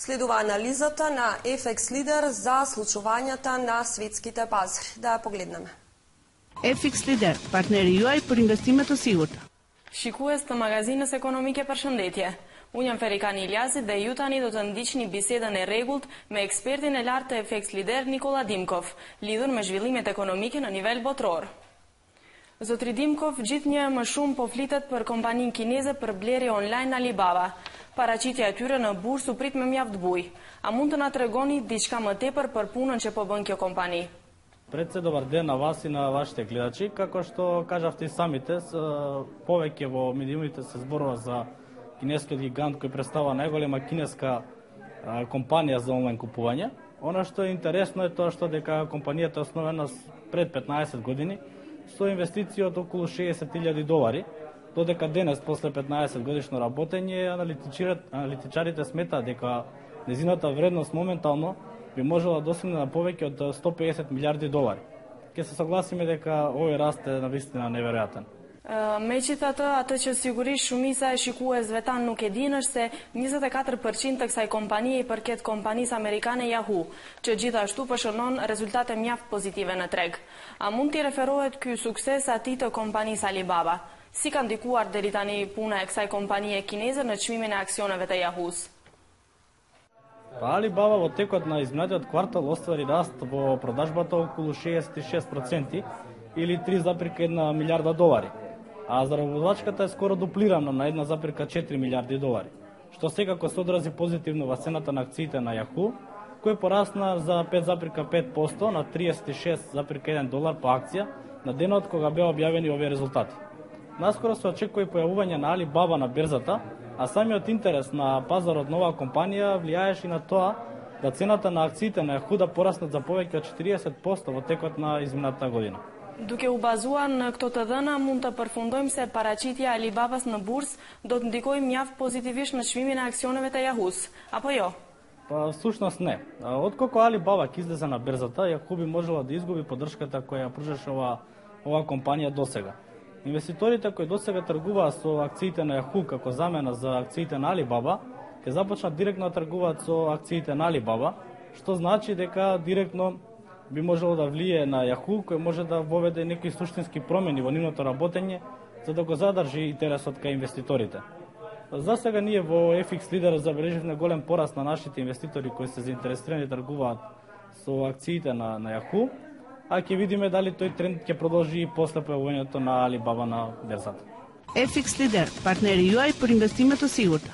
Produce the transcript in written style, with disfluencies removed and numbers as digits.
Следува анализата на FX Leader за случувањата на светските пазари. Да ја погледнеме. FX Leader, партнери juaj për investimet të sigurta. Shikues të magazinës ekonomike, përshëndetje. Unë jam Ferikani Iljazi dhe ju tani do të ndiqni bisedën e rregullt me ekspertin e lartë të FX Leader Nikola Dimkov, lidhur me zhvillimet ekonomike në nivel botror. Zotri Dimkov, gjithnjë më shumë po flitet për kompaninë kineze për blerje online Alibaba. Paraqitja e tyre në bursë u prit me mjaft buj. A mund të na tregoni diçka më tepër për punën që po bën kjo kompani? Пред се добар ден на вас и на вашите гледачи. Како што кажавте и самите, повеќе во медиумите се зборува за кинескиот гигант кој представува најголема кинеска компанија за онлайн купување. Она што е интересно е тоа што дека компанијата е основена пред 15 години со инвестиција од околу $60,000, додека денес, после 15 годишно работење, аналитичарите сметаат дека незината вредност моментално би можела да достигне на повеќе од $150 милиарди. Ке се согласиме дека овој раст е навистина неверојатен. Megjithatë, atë që sigurisht shumica e shikuesve tan nuk e dinë është se 24% të kësaj kompanie i përket kompanisë amerikane Yahoo, që gjithashtu shënon rezultate mjaft pozitive në treg. A mund t'i referohet ky sukses atij të kompanisë Alibaba? Si ka ndikuar deri tani puna e kësaj kompanie kineze në çmimin e aksioneve të Yahoo-s? Alibaba во текот на изминатиот квартал оствари раст во продажбата околу 66% или $3,1 милиарда, а заработвачката е скоро дуплирана на $1,4 милиарди, што секако се одрази позитивно во цената на акциите на Yahoo, кој порасна за 5,5% на $36,1 по акција на денот кога беа објавени овие резултати. Наскоро се очекува и појавување на Alibaba на берзата, а самиот интерес на пазарот на оваа компанија влијаеше на тоа да цената на акциите на Yahoo да пораснат за повеќе од 40% во текот на изминатата година. Duke u bazuar në këto të dhëna, mund të përfundojmë se paraqitja e Alibabas në bursë do të ndikojë mjaft pozitivisht në çmimin e aksioneve të Yahoo-s, apo jo? Па всушност не. Откако Alibaba ќе излезе на берзата, Yahoo би можела да изгуби поддршката која ја пружеше оваа компанија досега. Инвеститорите кои досега тргуваат со акциите на Yahoo како замена за акциите на Alibaba, ќе започнат директно да тргуваат со акциите на Alibaba, што значи дека директно би можело да влие на Yahoo, кој може да воведе некои суштински промени во нивното работење, за да го задржи интересот кај инвеститорите. За сега ние во FX Leader забележивме голем пораст на нашите инвеститори кои се заинтересирани да тргуваат со акциите на Yahoo, а ќе видиме дали тој тренд ќе продолжи и после појавувањето на Alibaba на берзата. FX Leader, партнери juaj për investimet të sigurta.